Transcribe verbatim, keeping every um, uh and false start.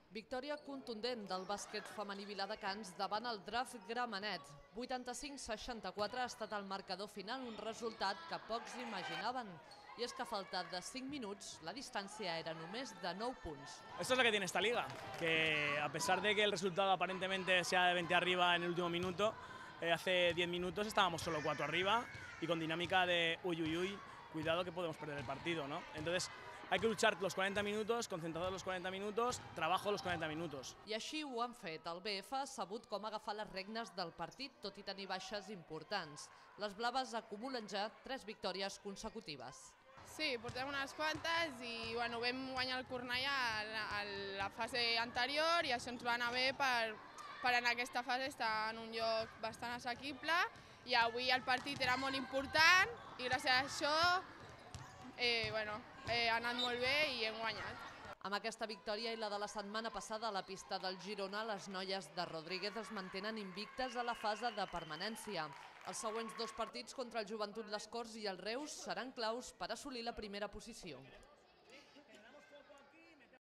Victòria contundent del bàsquet femení Viladecans davant el Draft Gramenet. vuitanta-cinc a seixanta-quatre ha estat el marcador final, un resultat que pocs imaginaven. I és que a falta de cinc minuts, la distància era només de nou punts. Esto es lo que tiene esta liga, que a pesar de que el resultado aparentemente sea de veinte arriba en el último minuto, eh, hace diez minutos estábamos solo cuatro arriba y con dinámica de uy, uy, uy, cuidado que podemos perder el partido, ¿no? Entonces, hay que luchar los cuarenta minutos, concentrados los cuarenta minutos, trabajo los cuarenta minutos. I així ho han fet. El B F ha sabut com agafar les regnes del partit, tot i tenir baixes importants. Les blaves acumulen ja tres victòries consecutives. Sí, portem unes quantes i bueno, vam guanyar el Cornellà a la fase anterior i això ens va anar bé per, per en aquesta fase estar en un lloc bastant assequible i avui el partit era molt important i gràcies a això eh, bueno, eh, ha anat molt bé i hem guanyat. Amb aquesta victòria i la de la setmana passada a la pista del Girona, les noies de Rodríguez es mantenen invictes a la fase de permanència. Els següents dos partits contra el Joventut Les Corts i el Reus seran claus per assolir la primera posició.